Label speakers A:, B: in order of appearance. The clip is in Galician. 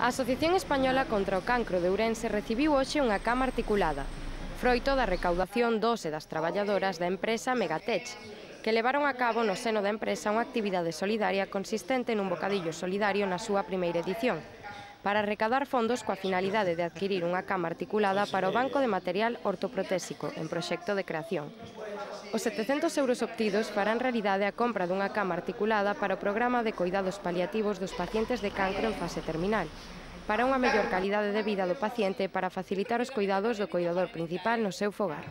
A: A Asociación Española contra o Cancro de Ourense recibiu hoxe unha cama articulada, froito da recaudación dos e das traballadoras da empresa Megatech, que levaron a cabo no seno da empresa unha actividade solidaria consistente nun bocadillo solidario na súa primeira edición, para recadar fondos coa finalidade de adquirir unha cama articulada para o Banco de Material Ortoprotésico en proxecto de creación. Os 700 euros obtidos farán realidade a compra dunha cama articulada para o programa de coidados paliativos dos pacientes de cancro en fase terminal, para unha mellor calidade de vida do paciente e para facilitar os coidados do coidador principal no seu fogar.